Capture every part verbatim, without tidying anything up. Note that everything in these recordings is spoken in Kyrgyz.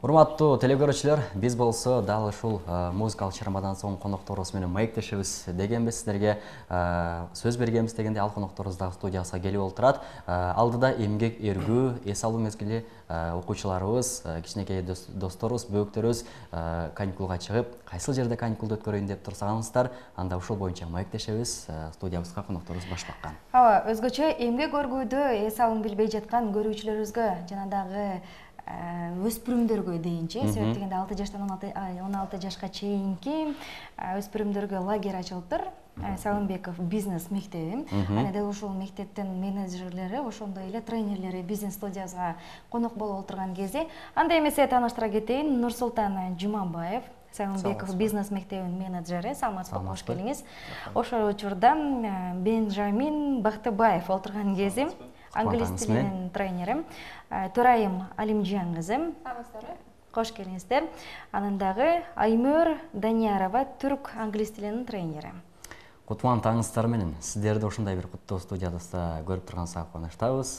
Урматтуу телекөрүүчүлөр, биз болсо дал ушул музыкалык чыгармадан соң конокторубуз менен маектешебиз дегенбиз сиздерге сөз бергенбиз дегенде ал конокторубуз дагы студиябызга келип олтурат. Алдыда эмгек эргүү, эс алуу мезгили окуучуларыбыз, кичинекей досторубуз, бөөктөрүбүз каникулга чыгып, кайсыл жерде каникулду өткөрөйүн деп турсаңыздар, анда ушул боюнча маектешебиз, студиябызга конокторубуз баш баккан. Ооба, өзгөчө эмгек өргүүдө эс алуун билбей жаткан көрүүчүлөрүбүзгө жана дагы өспүрүмдөргө дейинчи, себеп дегенде алты жаштан он алты жашка чейинки өспүрүмдөргө лагерь ачылыптыр. Салымбеков бизнес мектеби. Аны дал ушул мектептин менеджерлери, ошондой эле тренерлери бизнес студиябызга конок болуп отурган кезде, анда эмесе тааныштыра кетейин, Нурсултан Жумабаев, Салымбеков бизнес мектебинин менеджери. Саламатсызбы, кош келиңиз. Ошол учурда Бенжамин Бактыбаев отурган кезде, англис тилинин тренери, Төрайым Алимжан кызы. Саламатсыздарбы? Кош келиңиздер. Анан дагы Аймөр Даниярова, түрк англис тилинин тренери. Кутман таңыңыздар менен сиздерди ушундай бир куттуу студиябызда көрүп турганыбызга кубанычтабыз.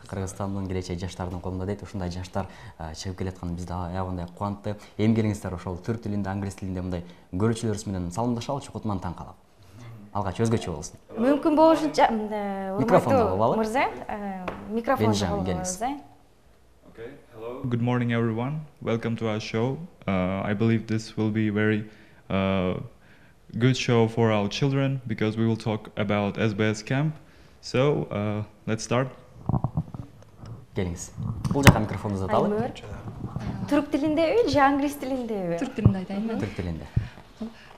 Кыргызстандын келечек жаштардын колунда дейт, ушундай жаштар чыгып келатканы бизди аябагандай кубантты. Эми келиңиздер ошол түрк тилинде, англис тилинде мындай көрүүчүлөрүбүз менен саламдашалычы, Кутман таң калып. Алгач өзгөчө болсун. Мүмкүн болушунча микрофонду мырза, микрофонду алыңыз. Okay, hello. Good morning, everyone. Welcome to our show. Uh, I believe this will be very uh, good show for our children because we will talk about S B S camp. So uh, let's start. Келиңиз. Бул жака микрофонду uzatалы. Түрк тилиндеби же англис тилиндеби? Түрк тилинде айтайын. Түрк тилинде.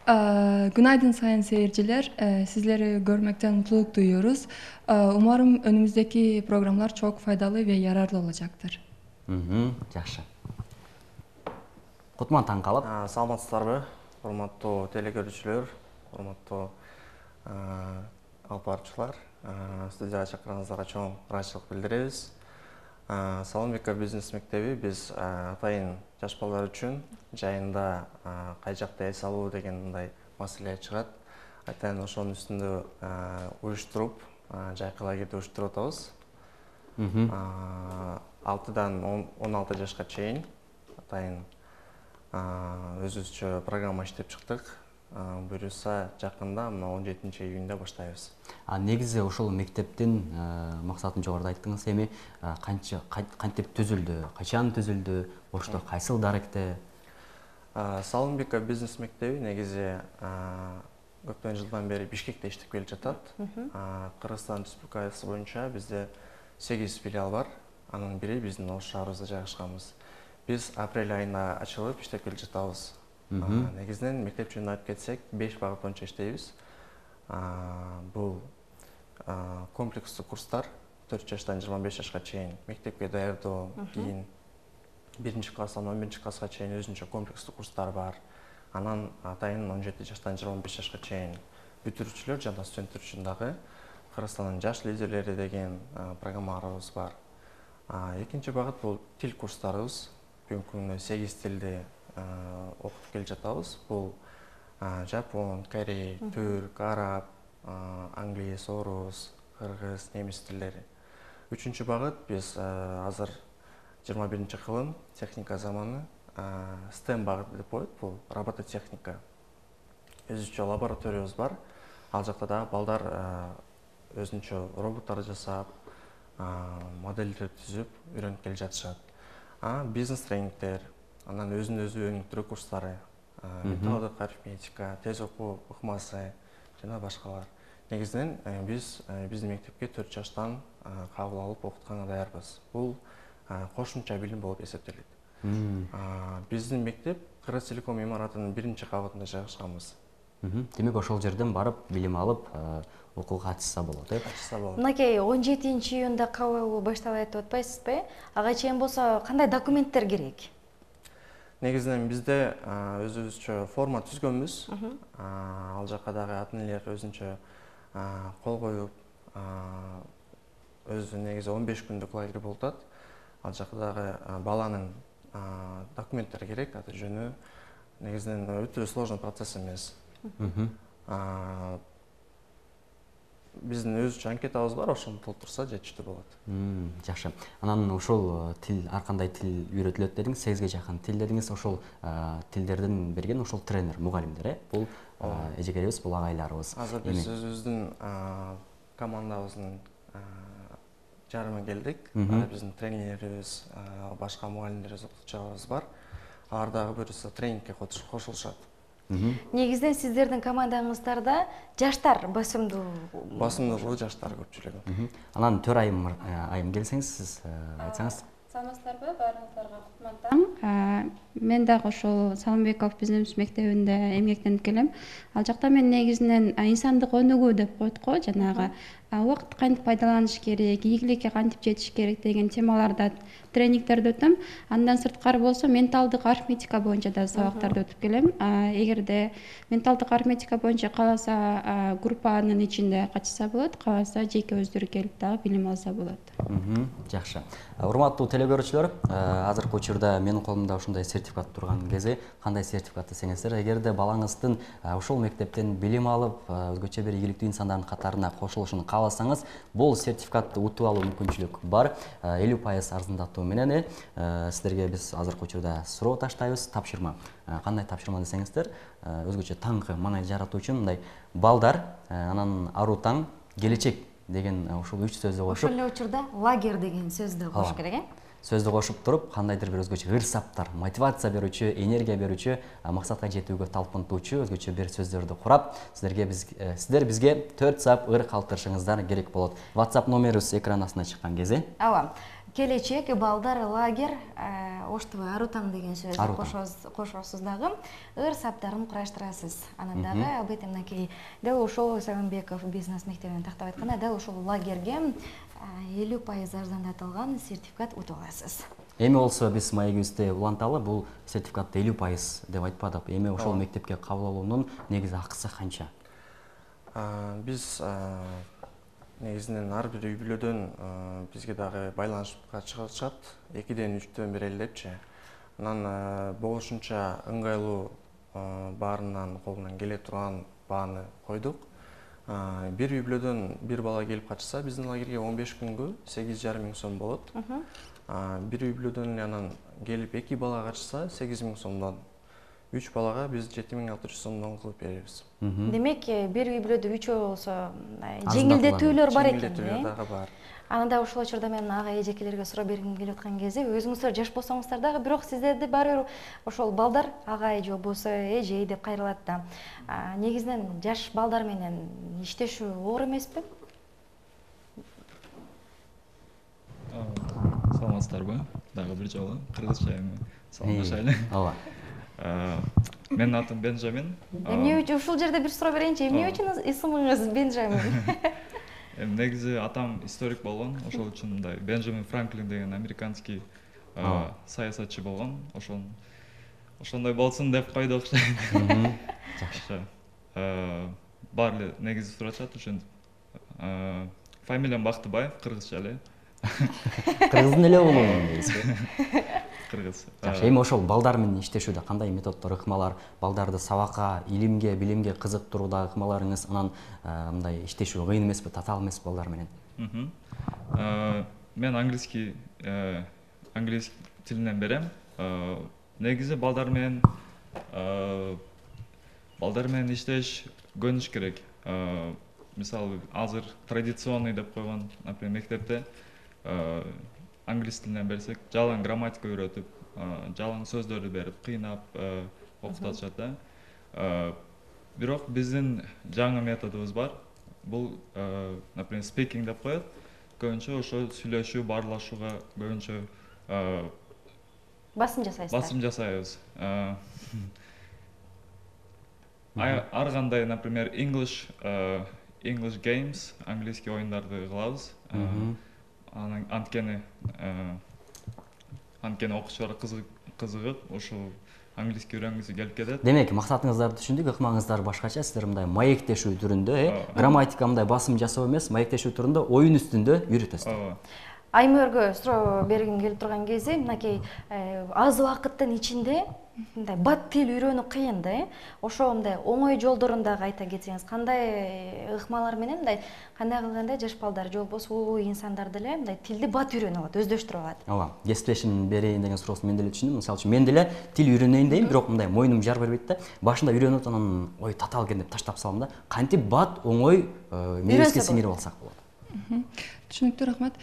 Күнайдын сайын сейерчилер, сиздерди көрмөктөн муктулук дуйуyoruz. Умарым önümüzdeki programlar çok faydalı ve yararlı olacaktır. Жакшы. Кутман таң калып. Саламатсыздарбы, урматтуу телекөрүүчүлөр, урматтуу алып баруучулар. Студияга чакырганыңыздарга чоң ыраазычылык билдиребиз. Салымбеков бизнес мектеби биз атайын жаш балдар үчүн жайында кай жакта эс алуу деген мындай маселе чыгат. Атайын ошонун үстүндө уюштуруп, жайкы лагерди уюштуруп атабыз. алтыдан он алты жашка чейин атайын өзүбүзчө программа иштеп чыктык. Буюрса жакында мына он жетинчи июнда баштайбыз. А негизи ошол мектептин максатын жогоруда айттыңыз. Эми канча кантип түзүлдү, качан түзүлдү, ошто кайсыл даректе? Салымбеков бизнес мектеби негизи көптөн жылдан бери Бишкекте иштеп келе жатат. Кыргызстан Республикасы боюнча бизде сегиз филиал бар. Анын бири биздин Ош шаарыбызда жайгашканбыз. Биз апрель айында ачылып иштеп келе жатабыз. Негизинен мектеп жөнүндө айтып кетсек, беш багыт боюнча иштейбиз. Бул комплекстүү курстар төрт жаштан жыйырма беш жашка чейин мектепке даярдоо, кийин биринчи класстан он биринчи класска чейин өзүнчө комплекстүү курстар бар. Анан атайын он жети жаштан жыйырма беш жашка чейин бүтүрүүчүлөр жана студенттер үчүн дагы Кыргызстандын жаш лидерлери деген программаларыбыз бар. Экинчи багыт бул тил курстарыбыз. Бүгүнкү күндө сегиз тилди окуп келе жатабыз. Бул жапон, корей, түрк, араб, англис, орус, кыргыз, немис тилдери. Үчүнчү багыт биз азыр жыйырма биринчи кылым техника заманы стем багыты деп коет. Бул робототехника. Өзүнчө лабораториябыз бар. Ал жакта дагы балдар өзүнчө роботтор жасап, модельдер түзүп үйрөнүп келе жатышат. Бизнес тренингдер, анан өзүн өзү өнүктүрүү курстары, методик арифметика, тез окуу ыкмасы жана башкалар. Негизинен биз биздин мектепке төрт жаштан кабыл алып окутканга даярбыз. Бул кошумча билим болуп эсептелет. Биздин мектеп Кыргыз Телеком имаратынын биринчи кабатында жайгашканбыз. Демек ошол жерден барып билим алып окууга катышса болот, э? Катышса болот. Мынакей он жетинчи июнда кабыл башталат деп атпайсызбы? Ага чейин болсо кандай документтер керек? Негизинен бизде өзүбүзчө форма түзгөнбүз. Ал жака дагы ата энелер өзүнчө кол коюп, өзү негизи он беш күндүк лагерь болуп атат. Ал жака дагы баланын документтери керек, аты жөнү. Негизинен өтө сложный процесс эмес. биздин өзүнчө анкетабыз бар, ошону толтурса жетиштүү болот. Жакшы. Анан ошол тил ар кандай тил үйрөтүлөт дедиңиз, сегизге жакын тил дедиңиз. Ошол тилдердин берген ошол тренер, мугалимдер, э? Бул эжекерибиз, бул агайларыбыз. Азыр биз өзүбүздүн командабыздын жарымы келдик. Биздин тренерибиз, башка мугалимдерибиз, окутуучуларыбыз бар. Алар дагы буюрса тренингке кошулушат. Негизинен сиздердин командаңыздарда жаштар басымдуу. Басымдуулугу жаштар көпчүлүгү. Анан Төр айым айым келсеңиз, сиз айтсаңыз. Саламатсыздарбы, баарыңыздарга кутман таң. Мен дагы ошол Салымбеков бизнес мектебинде эмгектенип келем. Ал жакта мен негизинен инсандык өнүгүү деп коет го, жанагы убакытты кантип пайдаланыш керек, ийгиликке кантип жетиш керек деген темаларда тренингтерди өтөм. Андан сырткары болсо менталдык арифметика боюнча да сабактарды өтүп келем. Эгерде менталдык арифметика боюнча кааласа группанын ичинде катышса болот, кааласа жеке өздөрү келип дагы билим алса болот. Жакшы. Урматтуу теле көрүүчүлөр, азыркы учурда менин колумда ушундай сертификат турган кези, кандай сертификат десеңиздер, эгерде балаңыздын ушул мектептен билим алып, өзгөчө бир ийгиликтүү инсандардын катарына кошулушун кааласаңыз, бул сертификатты утуп алуу мүмкүнчүлүк бар. элүү пайыз арзандатуу менен сиздерге биз азыркы учурда суроо таштайбыз. Тапшырма. Кандай тапшырма десеңиздер, өзгөчө таңкы маанай жаратуу үчүн мындай балдар, анан аруу таң, келечек деген ушул үч сөздү кошуп, ошол эле учурда лагерь деген сөздү кош керек, э? Сөздү кошуп туруп, кандайдыр бир өзгөчө ыр-саптар, мотивация берүүчү, энергия берүүчү, максатка жетүүгө талпынтуучу өзгөчө бир сөздөрдү курап, сиздерге биз сиздер бизге төрт саап ыр калтырышыңыздар керек болот. WhatsApp номерибиз экран астына чыккан кези. Ооба. Келечек, балдар, лагерь, оштубу аруу таң деген сөздү кошосуз дагы, ыр саптарын кураштырасыз. Анан дагы албетте мынакей дал ошол Салымбеков бизнес мектебинен тактап айтканда, дал ошол лагерьге элүү пайыз арзандатылган сертификат утуп аласыз. Эми болсо биз маегибизди уланталы, бул сертификатты элүү пайыз деп айтпадык. Эми ошол мектепке кабыл алуунун негизи акысы канча? Биз негизинен ар бир үй бүлөдөн бизге дагы байланышка чыгышат, экиден үчтөн бир элдепчи. Анан болушунча ыңгайлуу баарынын колунан келе турган бааны койдук. Бир үй бүлөдөн бир бала келип катышса, биздин лагерге он беш күнгө сегиз жарым миң сом болот. Бир үй бүлөдөн анан келип эки бала катышса, сегиз миң сомдон, үч балага биз жети миң алты жүз сомдон кылып беребиз. Демек, бир үй бүлөдө үчөө болсо жеңилдетүүлөр бар экен, э? Жеңилдетүүлөр дагы бар. Анан да ошол учурда мен ага эжекелерге суроо бергим келип аткан кезде, өзүңүздөр жаш болсоңуздар дагы, бирок сиздерди баары бир ошол балдар агай же болбосо эжей деп кайрылат да. Негизинен жаш балдар менен иштешүү оор эмеспи? Саламатсыздарбы? Дагы бир жолу кыргызча эми саламдашайлы. Ооба. Менин атым Бенжамин. Эмне үчүн ушул жерде бир суроо берейинчи, эмне үчүн исмиңиз Бенжамин? Эми негизи атам историк болгон, ошол үчүн мындай Бенджамин Франклин деген американский саясатчы болгон. Ошол ошондой болсун деп койду окшойт. Жакшы. Баары эле негизи сурашат ушинтип. Фамилиям Бактыбаев, кыргызча эле. Кыргыздын эле уулумун дейсизби? Кыргыз. Жакшы, эми ошол балдар менен иштешүүдө кандай методдор, ыкмалар, балдарды сабакка, илимге, билимге кызыктырууда ыкмаларыңыз, анан мындай иштешүү кыйын эмеспи, татаал эмеспи балдар менен? Мен английский английский тилинен берем. Негизи балдар менен балдар менен иштеш көнүш керек. Мисалы, азыр традиционный деп койгон, например, мектепте англис тилинен берсек, жалаң грамматика үйрөтүп, жалаң сөздөрдү берип, кыйнап окутушат да. Бирок биздин жаңы методубуз бар. Бул, например, speaking деп коет. Көбүнчө ошо сүйлөшүү, баарлашууга көбүнчө басым жасайсыздар. Басым жасайбыз. Ар кандай, например, English English games, английский оюндарды кылабыз. Анткени анткени окуучулар кызыгып, ошол английский үйрөнгүсү келип кетет. Демек, максатыңыздарды түшүндүк, ыкмаңыздар башкача, сиздер мындай маектешүү түрүндө, э, грамматика мындай басым жасоо эмес, маектешүү түрүндө оюн үстүндө үйрөтөсүздөр. Аймөргө суроо бергим келип турган кезде мынакей аз убакыттын ичинде мындай бат тил үйрөнүү кыйын да, э? Ошо мындай оңой жолдорун дагы айта кетсеңиз, кандай ыкмалар менен мындай кандай кылганда жаш балдар же болбосо улуу инсандар деле мындай тилди бат үйрөнүп алат, өздөштүрүп алат. Ооба, кесиптешим берейин деген суроосун мен деле түшүндүм. Мисалы үчүн мен деле тил үйрөнөйүн дейм, бирок мындай мойнум жар бербейт да. Башында үйрөнүп анан ой татаал экен деп таштап салам да. Кантип бат оңой мээбизге сиңирип алсак болот. Түшүнүктүү, рахмат.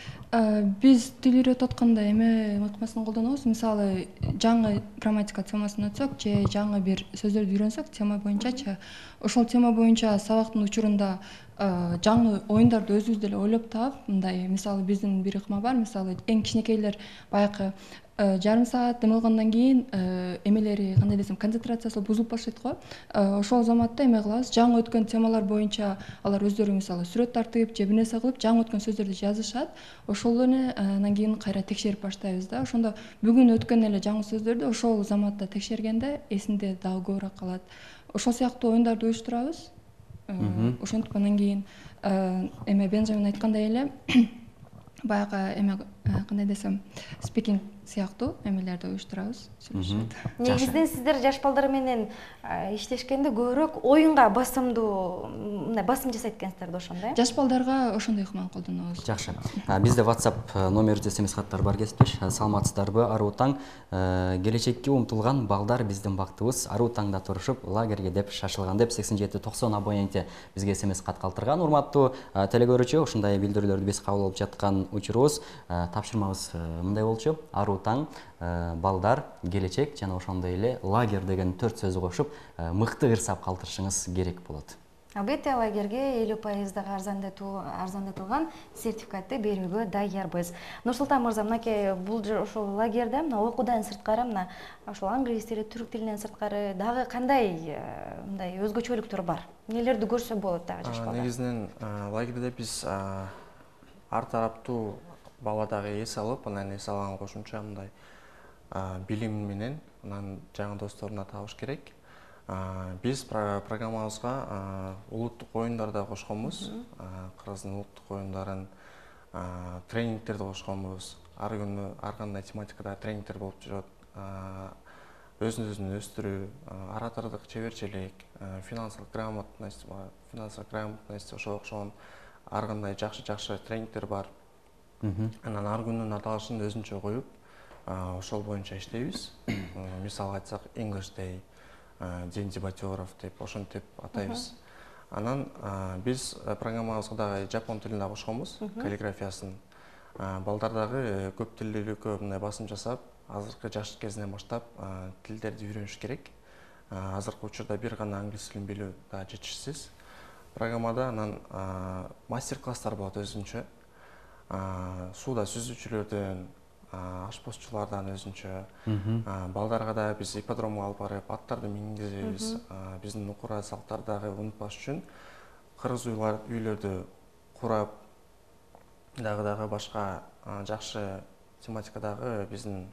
Биз тил үйрөтүп атканда эме ыкмасын колдонобуз. Мисалы, жаңы грамматика темасын өтсөк же жаңы бир сөздөрдү үйрөнсөк тема боюнчачы, ошол тема боюнча сабактын учурунда жаңы оюндарды өзүбүз деле ойлоп таап, мындай мисалы биздин бир ыкма бар, мисалы эң кичинекейлер баягы жарым саат дем алгандан кийин эмелери кандай десем концентрациясы бузулуп баштайт го. Ошол заматта эме кылабыз, жаңы өткөн темалар боюнча алар өздөрү мисалы сүрөт тартып же бир нерсе кылып жаңы өткөн сөздөрдү жазышат. Ошолорну анан кийин кайра текшерип баштайбыз да. Ошондо бүгүн өткөн эле жаңы сөздөрдү ошол заматта текшергенде эсинде дагы көбүрөөк калат. Ошол сыяктуу оюндарды уюштурабыз. Ошентип анан кийин эме Бенжамин айткандай эле баягы эме кандай десем спикинг сыяктуу эмелерди уюштурабыз, сүйлөшөт. Негизинен сиздер жаш балдар менен иштешкенде көбүрөөк оюнга басымдуу, мындай басым жасайт экенсиздер да ошондо, э? Жаш балдарга ошондой ыкманы колдонобуз. Жакшы. Бизде WhatsApp номерибизде эс эм эс каттар бар кесиптеш. Саламатсыздарбы? Аруу таң. Келечекке умтулган балдар биздин бактыбыз. Аруу таңда турушуп лагерге деп шашылган деп сексен жети токсон абоненти бизге эс эм эс кат калтырган. Урматтуу телекөрүүчү, ушундай билдирүүлөрдү биз кабыл алып жаткан учурубуз. Тапшырмабыз мындай болчу. Аруу таң, балдар, келечек жана ошондой эле лагерь деген төрт сөздү кошуп мыкты ырсап калтырышыңыз керек болот. Албетте, лагерге элүү пайыздагы арзандатылган сертификатты берүүгө даярбыз. Нурсултан мырза, мынакей бул ошол лагерде мына окуудан сырткары мына ошол англис тили, түрк тилинен сырткары дагы кандай мындай өзгөчөлүктөр бар? Нелерди көрсө болот дагы жаш балдар? Негизинен лагерде биз ар тараптуу бала дагы эс алып, анан эс алган кошумча мындай билим менен анан жаңы досторуна табыш керек. Биз программабызга улуттук оюндарды кошконбуз. Кыргыздын улуттук оюндарын, тренингтерди кошконбуз. Ар күнү ар кандай тематикада тренингтер болуп жүрөт. Өзүн-өзүн өстүрүү, оратордук чеберчилик, финансылык грамотность, финансылык грамотность ошого окшогон ар кандай жакшы-жакшы тренингтер бар. Анан ар күнүн аталышын өзүнчө коюп, ошол боюнча иштейбиз. Мисалы айтсак, English Day, День дебатёров деп ошентип атайбыз. Анан биз программабызга дагы жапон тилин да кошконбуз, каллиграфиясын. Балдар дагы көп тилдүүлүккө мындай басым жасап, азыркы жаш кезинен баштап тилдерди үйрөнүш керек. Азыркы учурда бир гана англис тилин билүү да жетишсиз. Программада анан мастер-класстар болот өзүнчө. Сууда сүзүүчүлөрдөн, ашпозчулардан өзүнчө, балдарга да биз ипподромго алып барып, аттарды мингизебиз. Биздин укура салттарды дагы унутпаш үчүн кыргыз үйлөрдү курап, дагы-дагы башка жакшы тематикадагы биздин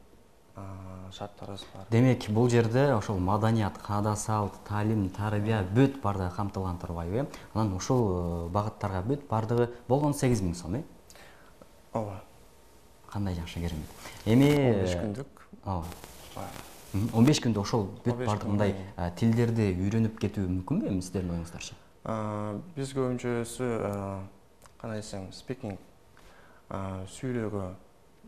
шарттарыбыз бар. Демек, бул жерде ошол маданият, каада салт, таалим, тарбия бүт бардыгы камтылган турбайбы? Анан ушул багыттарга бүт бардыгы болгону сегиз миң сом, э? Ооба. Кандай жакшы, керемет. Эми он беш күндүк. Ооба. он беш күндө ошол бүт бардык мындай тилдерди үйрөнүп кетүү мүмкүнбү эми сиздердин оюңуздарча? Биз көбүнчөсү кандай десем, спикинг, сүйлөөгө,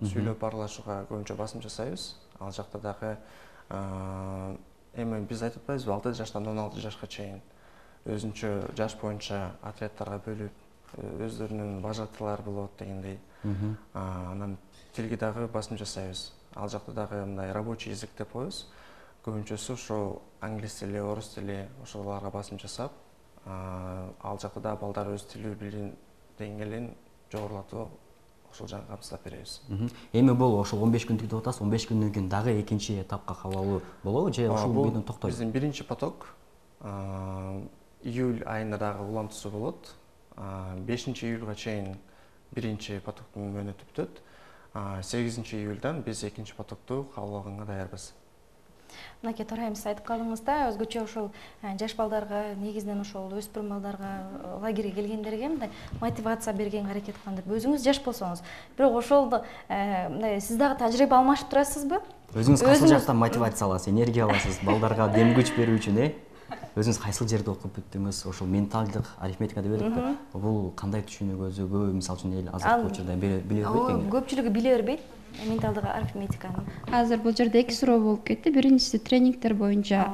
сүйлөп аралашууга көбүнчө басым жасайбыз. Ал жакта дагы эми биз айтып атпайбызбы, алты жаштан он алты жашка чейин өзүнчө жаш боюнча отрядтарга бөлүп, өздөрүнүн вожатыйлары болот дегендей. Анан тилге дагы басым жасайбыз. Ал жакта дагы мындай рабочий язык деп коебуз. Көбүнчөсү ошол англис тили, орус тили ошолорго басым жасап, ал жакта да балдар өз тил билим деңгээлин жогорулатып ошол жагын камсыздап беребиз. Эми бул ошол он беш күндүк деп атасыз, он беш күндөн кийин дагы экинчи этапка кабыл алуу болобу же ошол бойдон токтойбу? Биздин биринчи поток июль айында дагы улантуусу болот. бешинчи июлга чейин биринчи потоктун мөөнөтү бүтөт. сегизинчи июлдан биз экинчи потокту кабыл алганга даярбыз. мынакей Торайым, сиз айтып калдыңыз да, өзгөчө ошол жаш балдарга, негизинен ошол өспүрүм балдарга лагерге келгендерге мындай мотивация бергенге аракет кылган деп. Өзүңүз жаш болсоңуз, бирок ошол мындай сиз дагы тажрыйба алмашып турасызбы? Өзүңүз кайсыл жактан мотивация аласыз, энергия аласыз балдарга дем күч берүү үчүн, э? Өзүңүз кайсыл жерде окуп бүттүңүз? Ошол менталдык арифметика деп элек, бул кандай түшүнүүгө өзөгө, мисалы үчүн эл азыркы учурда биле бербейт? Көпчүлүгү биле бербейт менталдык арифметиканы. Азыр бул жерде эки суроо болуп кетти. Биринчиси тренингдер боюнча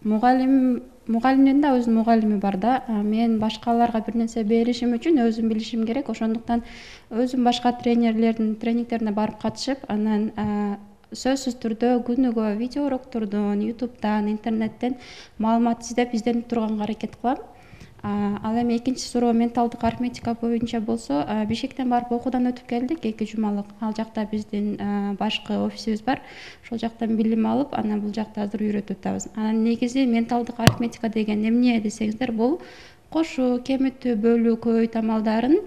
мугалим мугалимдин да өзүнүн мугалими бар да. Мен башкаларга бир нерсе беришим үчүн өзүм билишим керек. Ошондуктан өзүм башка тренерлердин тренингдерине барып катышып, анан сөзсүз түрдө күнүгө видео уроктордон, ютубтан, интернеттен маалымат издеп, изденип турганга аракет кылам. Ал эми экинчи суроо менталдык арифметика боюнча болсо, Бишкектен барып окуудан өтүп келдик эки жумалык. Ал жакта биздин башкы офисибиз бар. Ошол жактан билим алып, анан бул жакта азыр үйрөтүп атабыз. Анан негизи менталдык арифметика деген эмне десеңиздер, бул кошуу, кемитүү, бөлүү, көбөйтүү амалдарын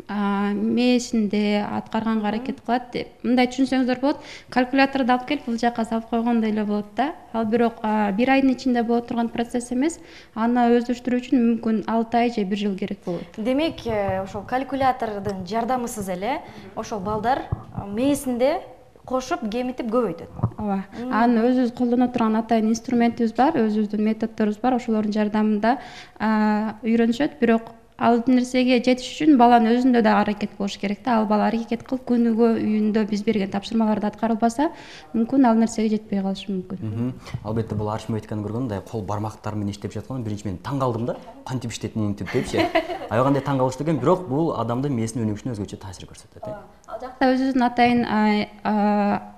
мээсинде аткарганга аракет кылат. Мындай түшүнсөңүздөр болот, калькуляторду алып келип бул жака салып койгондой эле болот да. Ал бирок бир айдын ичинде боло турган процесс эмес. Аны өздөштүрүү үчүн мүмкүн алты ай же бир жыл керек болот. Демек, ошол калькулятордун жардамысыз эле ошол балдар мээсинде кошуп, кемитип, көбөйтөт. Ооба. Аны өзүбүз колдоно турган атайын инструментибиз бар, өзүбүздүн методдорубуз бар. Ошолордун жардамында үйрөнүшөт, бирок ал нерсеге жетиш үчүн баланын өзүндө да аракет болуш керек да. Ал бала аракет кылып күнүгө үйүндө биз берген тапшырмаларды аткарылбаса, мүмкүн ал нерсеге жетпей калышы мүмкүн. Албетте бул арифметиканы көргөндө мындай кол бармактар менен иштеп жаткан, биринчи мен таң калдым да. Кантип иштейт мынтип депчи. Аябай кандай таң калыштуу экен, бирок бул адамдын мээсинин өнүгүшүнө өзгөчө таасир көрсөтөт, э? Ал жакта өзүбүздүн атайын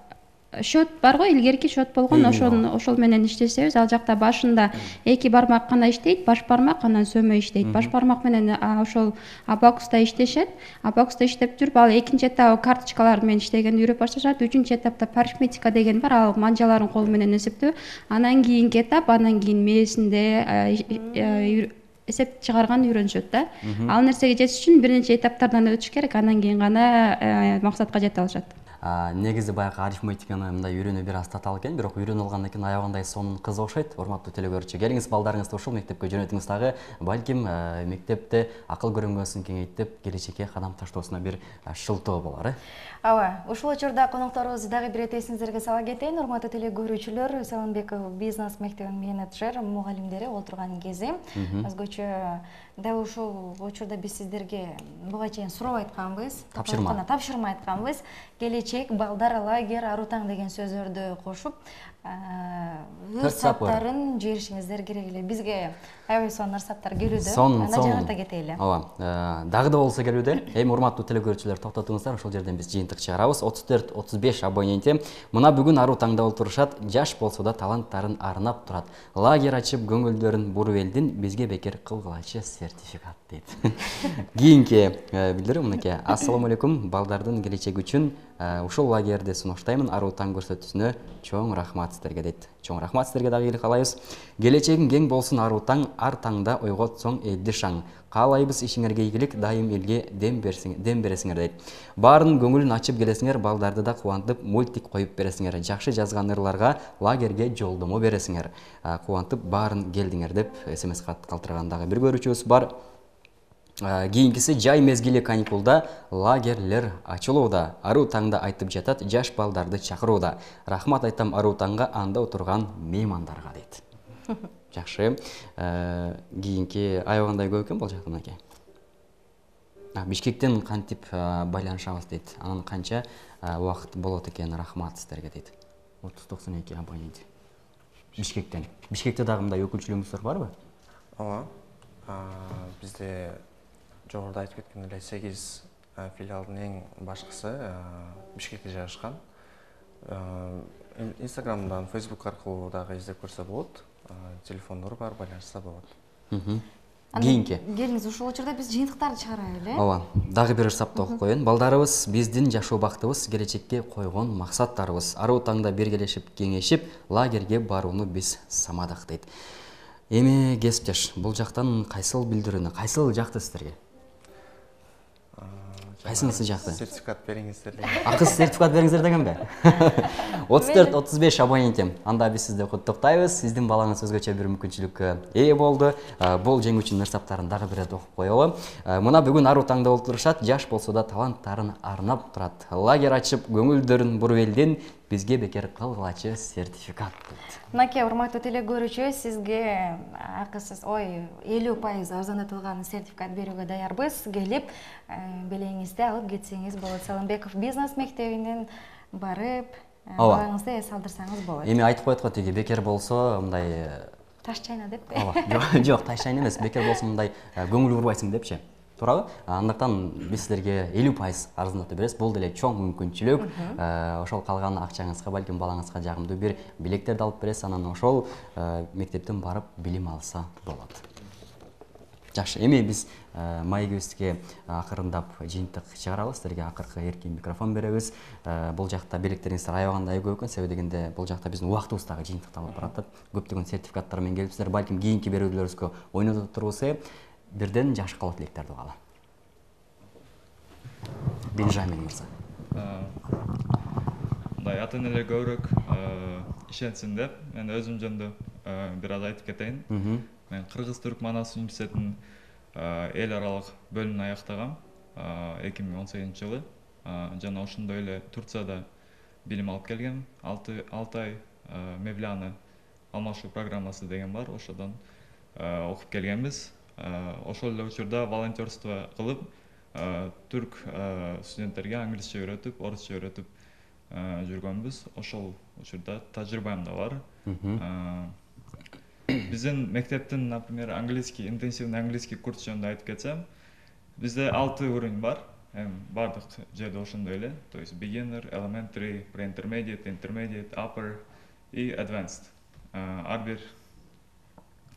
счет бар го, илгерки счет болгон, ошол ошол менен иштесебиз, ал жакта башында эки бармак гана иштейт, баш бармак, анан сөмө иштейт. Баш бармак менен ошол абакуста иштешет. Абакуста иштеп жүрүп, ал экинчи этап карточкалар менен иштегенди үйрөп башташат. Үчүнчү этапта парифметика деген бар, ал манжаларын кол менен эсептөө. Анан кийинки этап, анан кийин мээсинде эсеп чыгарганды үйрөнүшөт да. Ал нерсеге жетиш үчүн бир нече этаптардан өтүш керек, анан кийин гана максатка жете алышат. Негизи баягы арифметиканы мындай үйрөнүү бир аз татаал экен, бирок үйрөнүп алгандан кийин аябагандай сонун кыз окшойт. Урматтуу телекөрүүчү, келиңиз балдарыңызды ушул мектепке жөнөтүңүз, дагы балким мектепте акыл көрөңгөсүн кеңейтип, келечекке кадам таштоосуна бир шылтоо болор, э? Ооба, ушул учурда конокторубузду дагы бир эте эсиңиздерге сала кетейин. Урматтуу телекөрүүчүлөр, Салымбеков бизнес мектебинин менеджер, мугалимдери отурган кези. Өзгөчө дал ушул учурда биз сиздерге буга чейин суроо айтканбыз, тапшырма тапшырма айтканбыз. Келечек балдар лагерь, ару таң деген сөздөрдү кошуп, өз саптарын жиберишиңиздер керек эле. Бизге аябай сонун саптар келүүдө. Аны жаңырта кетели. Ооба, дагы да болсо келүүдө. Эми урматтуу телекөрүүчүлөр, токтотуңуздар, ошол жерден биз жыйынтык чыгарабыз. отуз төрт отуз беш абоненти мына бүгүн ару таңда олтурушат, жаш болсо да таланттарын арнап турат. Лагерь ачып көңүлдөрүн буруп элдин, бизге бекер кылгылачы сертификат дейт. Кийинки билдирүү мынакей. Ассаламу алейкум, балдардын келечеги үчүн ушул лагерьди сунуштаймын, ару таң көрсөтүүсүнө чоң рахмат сиздерге дейт. Чоң рахмат сиздерге дагы ийгилик каалайбыз. Келечегиң кең болсун ару таң, ар таңда ойготсоң элди шаң. Каалайбыз ишиңерге ийгилик, дайым элге дем берсиңер, дем бересиңер дейт. Баарынын көңүлүн ачып келесиңер, балдарды да кубантып, мультик коюп бересиңер. Жакшы жазган ырларга лагерьге жолдомо бересиңер. Кубантып баарын келдиңер деп смс кат калтырган дагы бир көрүүчүбүз бар. Кийинкиси жай мезгили каникулда лагерлер ачылууда. Ару таңда айтып жатат, жаш балдарды чакырууда. Рахмат айтам ару таңга, анда отурган меймандарга дейт. Жакшы. Кийинки аябагандай көп экен бул жакта мынакей. Бишкектен кантип байланышабыз дейт. Анан канча убакыт болот экен, рахмат сиздерге дейт. отуз токсон эки абонент. Бишкектен. Бишкекте дагы мындай өкүлчүлүгүңүздөр барбы? Ооба. Бизде жогоруда айтып кеткен эле сегиз филиалдын эң башкысы Бишкекте жайгашкан. Инстаграмдан, Фейсбук аркылуу дагы издеп көрсө болот. Телефондор бар, байланышса болот. Кийинки. Келиңиз, ушул учурда биз жыйынтыктарды чыгарайлы, э? Ооба. Дагы бир сапты окуп коеюн. Балдарыбыз биздин жашоо бактыбыз, келечекке койгон максаттарыбыз. Ару таңда биргелешип, кеңешип, лагерьге барууну биз самадык дейт. Эми кесиптеш, бул жактан кайсыл билдирүүнү, кайсыл жакты сиздерге? Кайсынысы жакты? Сертификат бериңиздер деген. Акыс сертификат бериңиздер дегенби? отуз төрт отуз беш абонентим. Анда биз сизди куттуктайбыз. Сиздин балаңыз өзгөчө бир мүмкүнчүлүккө ээ болду. Бул жеңүүчүнүн ырсаптарын дагы бир рет окуп коелу. Мына бүгүн аруу таңда болуп турушат. Жаш болсо да таланттарын арнап турат. Лагерь ачып көңүлдөрүн буруп элдин бизге бекер кылгылачы сертификат. Мынакей урматтуу теле көрүүчү, сизге акысыз, ой, элүү пайыз арзандатылган сертификат берүүгө даярбыз. Келип, белеңизди алып кетсеңиз болот. Салымбеков бизнес мектебинен барып, балаңызды эс алдырсаңыз болот. Эми айтып коет го тиги бекер болсо мындай таш чайна деппи? Ооба, жок, таш чайна эмес. Бекер болсо мындай көңүл бурбайсың депчи. Туурабы? Андыктан биз силерге элүү пайыз арзандатып беребиз. Бул деле чоң мүмкүнчүлүк. Ошол калган акчаңызга, балким балаңызга жагымдуу бир билектерди алып бересиз, анан ошол мектептен барып билим алса болот. Жакшы, эми биз маегибизге акырындап жыйынтык чыгарабыз. Силерге акыркы эркин микрофон беребиз. Бул жакта билектериңиздер аябагандай көп экен, себеби дегенде бул жакта биздин убактыбыз дагы жыйынтыкталып баратат. Көптөгөн сертификаттар менен келипсиздер. Балким кийинки берүүлөрүбүзгө ойнотуп турбузбу? Бирден жаш калуу тилектерди угалы. Бенжамин мырза. Мындай ата энелер көбүрөөк ишенсин деп, мен өзүм жөнүндө бир аз айтып кетейин. Мен Кыргыз-Түрк Манас университетинин эл аралык бөлүмүн аяктагам эки миң он сегизинчи жылы. Жана ошондой эле Турцияда билим алып келгем. алты ай Мевляна алмашуу программасы деген бар, ошодон окуп келгенбиз. Ошол эле учурда волонтерство кылып, түрк студенттерге англисче үйрөтүп, орусча үйрөтүп жүргөнбүз. Ошол учурда тажрыйбам да бар. Биздин мектептин, например, английский, интенсивный английский курс жөнүндө айтып кетсем, бизде алты уровень бар. Эми бардык жерде ошондой эле. То есть beginner, elementary, pre-intermediate, intermediate, upper и advanced. Ар бир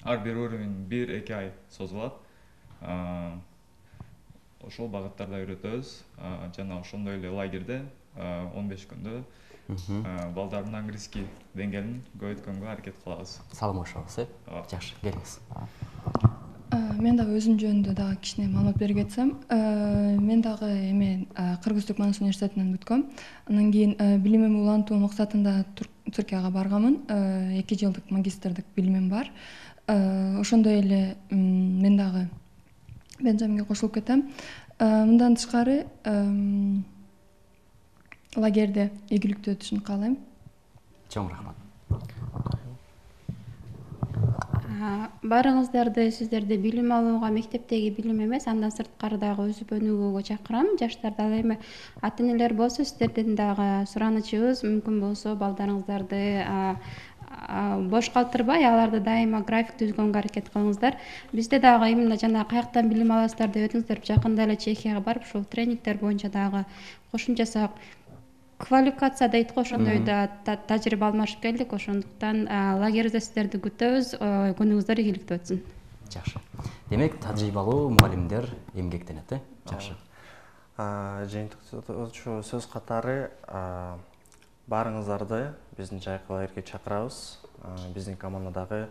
ар бир уровень бир эки ай созулат. Ошол багыттарда үйрөтөбүз. Жана ошондой эле лагерде он беш күндө балдардын английский деңгээлин көбөйткөнгө аракет кылабыз. Саламашабыз, э? Жакшы, келиңиз. Мен дагы өзүм жөнүндө дагы кичине маалымат бере кетсем, мен дагы эми Кыргыз-Түрк Манас университетинен бүткөм. Андан кийин билимимди улантуу максатында Түркияга барганмын. эки жылдык магистрдык билимим бар. Ошондой эле мен дагы Бенжаминге кошулуп кетем. Мындан тышкары лагерде ийгиликтүү өтүшүн каалайм. Чоң рахмат. Баарыңыздарды сиздерди билим алууга, мектептеги билим эмес, андан сырткары дагы өсүп өнүгүүгө чакырам. Жаштарды ал эми ата энелер болсо сиздердин дагы суранычыбыз, мүмкүн болсо балдарыңыздарды бош калтырбай, аларды дайыма график түзгөнгө аракет кылыңыздар. Бизде дагы именно жана каяктан билим аласыздар деп өтүңүздөр, жакында эле Чехияга барып, ушул тренингдер боюнча дагы кошумча квалификация дейт го, ошондой да тажрыйба алмашып келдик. Ошондуктан лагерибизде сиздерди күтөбүз. Күнүңүздөр ийгиликтүү өтсүн. Жакшы. Демек, тажрыйбалуу мугалимдер эмгектенет, э? Жакшы. Жыйынтыктоочу сөз катары баарыңыздарды биздин жайкы лагерге чакырабыз. Биздин командадагы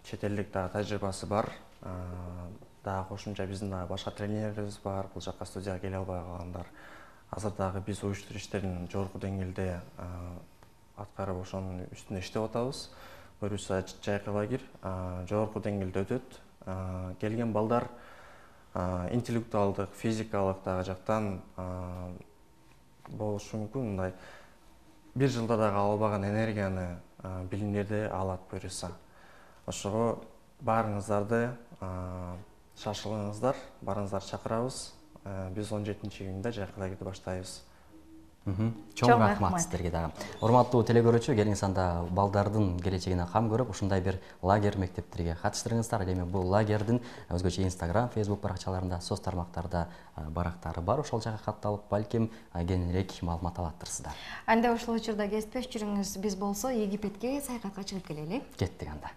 чет элдик дагы тажрыйбасы бар. Дагы кошумча биздин дагы башка тренерлерибиз бар. Бул жакка студияга келе албай калгандар. Азыр дагы биз уюштуруш иштерин жогорку деңгээлде аткарып, ошонун үстүндө иштеп атабыз. Буюрса жайкы лагерь жогорку деңгээлде өтөт. Келген балдар интеллектуалдык, физикалык дагы жактан болушу мүмкүн. Мындай бир жылда дагы албаган энергияны, билимдерди алат буюрса. Ошого баарыңыздарды шашылыңыздар, барыңыздар чакырабыз. Биз он жетинчи июнда жайкы лагерди баштайбыз. Чоң рахмат сиздерге дагы. Урматтуу теле көрүүчү, келиңиз анда балдардын келечегине кам көрүп, ушундай бир лагерь мектептерге катыштырыңыздар. Эми бул лагердин өзгөчө Instagram, Facebook баракчаларында, соц тармактарда барактары бар. Ошол жака катталып, балким кеңирээк маалымат алаттырсыздар. Анда ушул учурда кесиптеш жүрүңүз. Биз болсо Египетке саякатка чыгып келели. Кеттик анда.